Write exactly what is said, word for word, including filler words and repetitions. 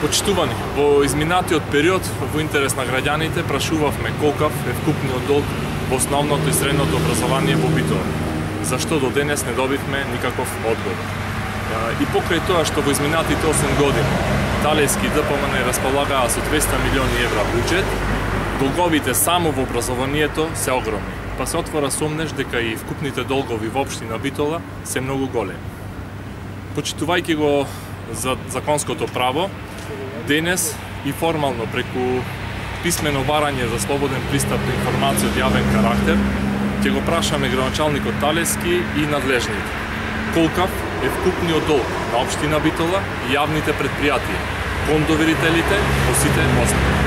Почитувани, во изминатиот период, во интерес на граѓаните, прашувавме колкав е вкупниот долг во основното и средното образование во Битола. Зашто до денес не добивме никаков одговор. И покрај тоа што во изминатите осем години Талески и Д П М Н располагаа со двесте милиони евра буџет, долговите само во образованието се огромни, па се отвора сомнеш дека и вкупните долгови во општина Битола се многу големи. Почитувајќи го за законското право, денес и формално преку писмено барање за слободен пристап до информација од јавен карактер, ќе го прашаме градоначалникот Талески и надлежните. Колкав е вкупниот долг на општина Битола и јавните претпријатија, кон доверителите по сите основи.